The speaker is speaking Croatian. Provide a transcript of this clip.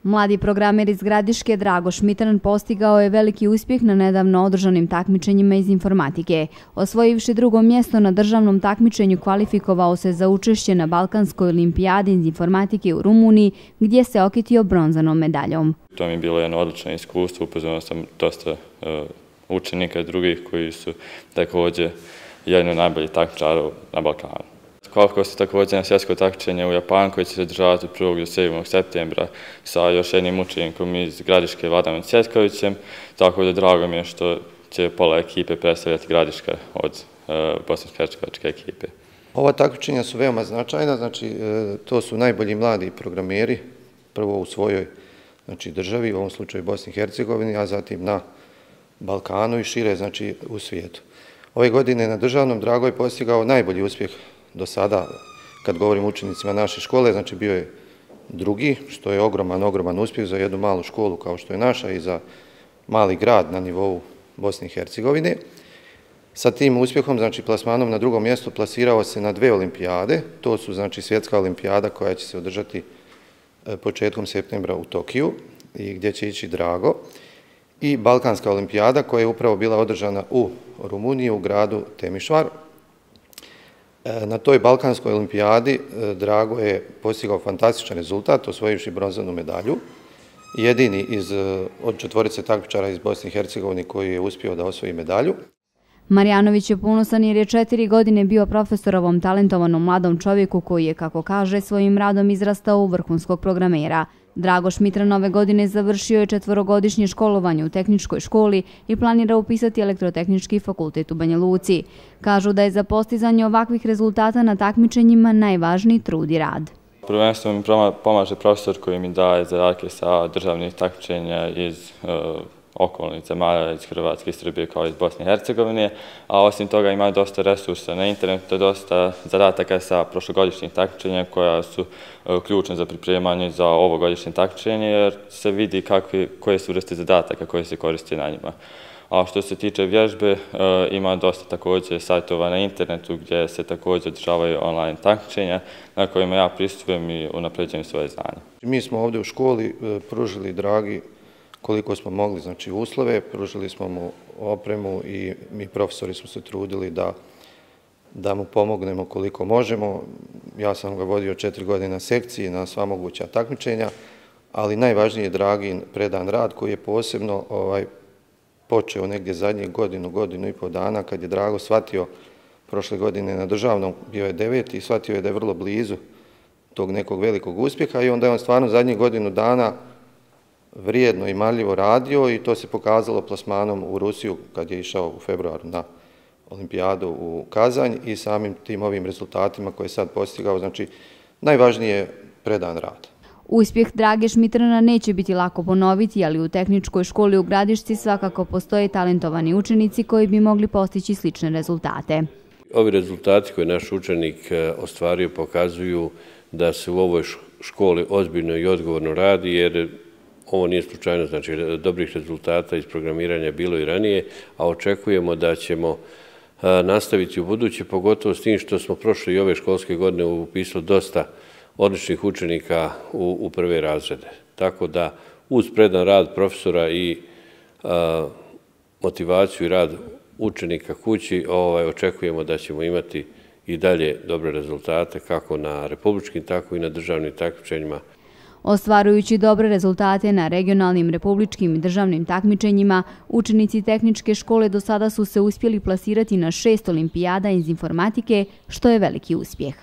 Mladi programer iz Gradiške Drago Šmitran postigao je veliki uspjeh na nedavno održanim takmičenjima iz informatike. Osvojivši drugo mjesto na državnom takmičenju, kvalifikovao se za učešće na Balkanskoj olimpijadi iz informatike u Rumuniji, gdje se okitio bronzanom medaljom. To mi je bilo jedno odlično iskustvo, upoznao sam dosta učenika i drugih koji su također jedni od najboljih takmičara na Balkanu. Kvalifikovao se također na svjetsko takmičenje u Japanu koje će se održavati od 1. do 7. septembra sa još jednim učenikom iz Gradiške, Vladanom Cvjetkovićem, tako da drago mi je što će pola ekipe predstavljati Gradiška od bosansko-hercegovačke ekipe. Ova takmičenja su veoma značajna, znači to su najbolji mladi programeri, prvo u svojoj državi, u ovom slučaju Bosni i Hercegovini, a zatim na Balkanu i šire, znači u svijetu. Ove godine na državnom Drago je postigao najbolji uspjeh do sada, kad govorim učenicima naše škole, znači bio je drugi, što je ogroman uspjeh za jednu malu školu kao što je naša i za mali grad na nivou Bosne i Hercegovine. Sa tim uspjehom, znači plasmanom na drugom mjestu, plasirao se na 2 olimpijade. To su znači svjetska olimpijada koja će se održati početkom septembra u Tokiju i gdje će ići Drago, i Balkanska olimpijada koja je upravo bila održana u Rumuniji u gradu Temišvar. Na toj Balkanskoj olimpijadi Drago je postigao fantastičan rezultat, osvojivši bronzanu medalju. Jedini od 4 takmičara iz Bosne i Hercegovine koji je uspio da osvoji medalju. Marjanović je ponosan jer je 4 godine bio profesor ovom talentovanom mladom čovjeku koji je, kako kaže, svojim radom izrastao u vrhunskog programera. Drago Šmitran ove godine završio je 4-godišnje školovanje u tehničkoj školi i planira upisati elektrotehnički fakultet u Banja Luci. Kažu da je za postizanje ovakvih rezultata na takmičenjima najvažniji trud i rad. Prvenstveno mi pomaže profesor koji mi daje zadatke sa državnih takmičenja iz okolnih zemalja, iz Hrvatske i Srbije kao iz Bosne i Hercegovine, a osim toga ima dosta resursa na internetu, dosta zadataka sa prošlogodišnjih takmičenja koja su ključne za pripremanje za ovogodišnje takmičenje, jer se vidi koje su vrste zadataka koje se koriste na njima. A što se tiče vježbe, ima dosta također sajtova na internetu gdje se također održavaju online takmičenja na kojima ja pristupujem i unapređujem svoje znanje. Mi smo ovdje u školi pružili Dragi koliko smo mogli, znači uslove, pružili smo mu opremu i mi profesori smo se trudili da mu pomognemo koliko možemo. Ja sam ga vodio 4 godine na sekciji, na sva moguća takmičenja, ali najvažniji je Dragin predan rad koji je posebno počeo negdje zadnjih godinu i pol dana, kad je Drago shvatio prošle godine na državnom, bio je 9. i shvatio je da je vrlo blizu tog nekog velikog uspjeha i onda je on stvarno zadnjih godinu dana vrijedno i marljivo radio i to se pokazalo plasmanom u Rusiju kad je išao u februaru na olimpijadu u Kazanj i samim tim ovim rezultatima koje je sad postigao, znači najvažnije je predan rad. Uspjeh Drage Šmitrana neće biti lako ponoviti, ali u tehničkoj školi u Gradišci svakako postoje talentovani učenici koji bi mogli postići slične rezultate. Ovi rezultati koje naš učenik ostvario pokazuju da se u ovoj školi ozbiljno i odgovorno radi, jer ovo nije slučajno, znači dobrih rezultata iz programiranja je bilo i ranije, a očekujemo da ćemo nastaviti u buduće, pogotovo s tim što smo prošle i ove školske godine upisali dosta odličnih učenika u prve razrede. Tako da uz predan rad profesora i motivaciju i rad učenika kući očekujemo da ćemo imati i dalje dobre rezultate kako na republičkim, tako i na državnim takmičenjima. Ostvarujući dobre rezultate na regionalnim, republičkim i državnim takmičenjima, učenici tehničke škole do sada su se uspjeli plasirati na 6 olimpijada iz informatike, što je veliki uspjeh.